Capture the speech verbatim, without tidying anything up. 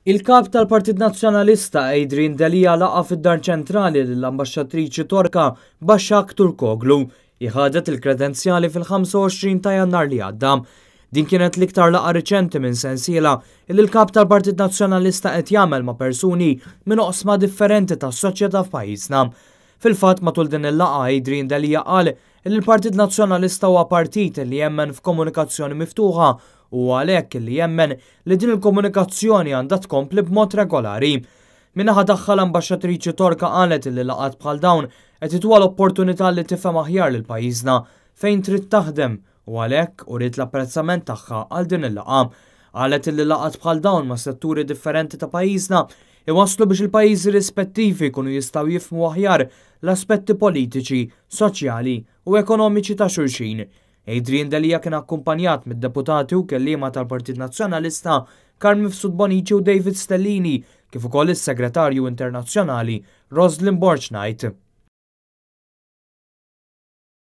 Il-kap tal-Partit Nazzjonalista Adrian Delia laqa' fid-Dar Ċentrali lill-Ambaxxatriċi Torka Başak Turkoglu li ħadet il-kredenzjali fil-ħamsa u għoxrin ta' Jannar li għadda. Din kienet l-iktar laqa riċenti minn sensiela li l-kap tal-Partit Nazzjonalista qed jagħmel ma' persuni minn oqsma differenti tas-soċjetà f'pajjiżna. Fil-fatt, matul din il-laqa Adrian Delia qal li l-Partit Nazzjonalista huwa partit li jemmen f'komunikazzjoni miftuħa u għalhekk li jemmen li din il-komunikazzjoni għandha tkompli b'mod regolari. Min-naħa tagħha, l-ambaxxatriċi Torka qalet li laqgħat bħal dawn qed ituha l-opportunità li tifhem aħjar lil pajjiżna fejn trid taħdem u għalhekk uriet l-apprezzament tagħha għal din il-laqgħa. Qalet li laqgħat bħal dawn ma' setturi differenti ta' pajjiżna iwasslu biex il-pajjiżi rispettivi jkunu jistgħu jifhmu aħjar l-aspetti politiċi, soċjali u ekonomiċi ta' xulxin. Adrian Delia kien akkumpanjat mid-deputati u kelliema tal-Partit Nazzjonalista Carm Mifsud Bonnici u David Stellini, kif ukoll is-Segretarju Internazzjonali Roslyn Borg Knight.